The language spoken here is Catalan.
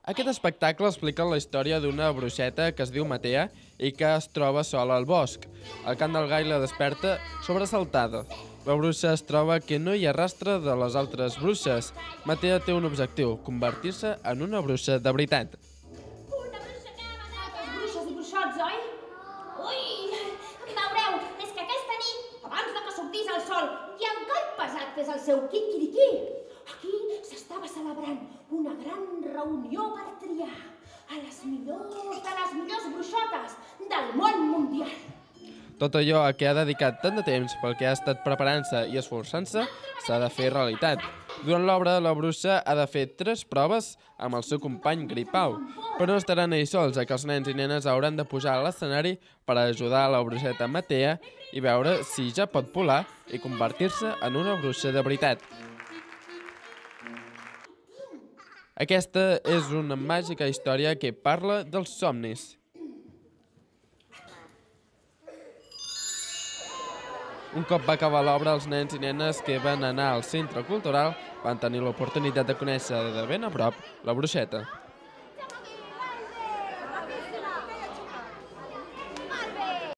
Aquest espectacle explica la història d'una bruixeta que es diu Matea i que es troba sola al bosc. El cant del gall la desperta sobresaltada. La bruixa es troba que no hi ha rastre de les altres bruixes. Matea té un objectiu, convertir-se en una bruixa de veritat. Una bruixa que va matar bruixes i bruixots, oi? Ui, veureu, és que aquesta nit, abans de que sortís el sol i el gall pesat fes el seu quiquiriquí, aquí s'estava celebrant una gran reunió per triar a les millors de les millors bruixotes del món mundial. Tot allò a què ha dedicat tant de temps, pel que ha estat preparant-se i esforçant-se, s'ha de fer realitat. Durant l'obra, la bruixa ha de fer 3 proves amb el seu company Gripau, però no estaran ells sols, ja que els nens i nenes hauran de pujar a l'escenari per ajudar a la bruixeta Matea i veure si ja pot volar i convertir-se en una bruixa de veritat. Aquesta és una màgica història que parla dels somnis. Un cop va acabar l'obra, els nens i nenes que van anar al centre cultural van tenir l'oportunitat de conèixer de ben a prop la bruixeta.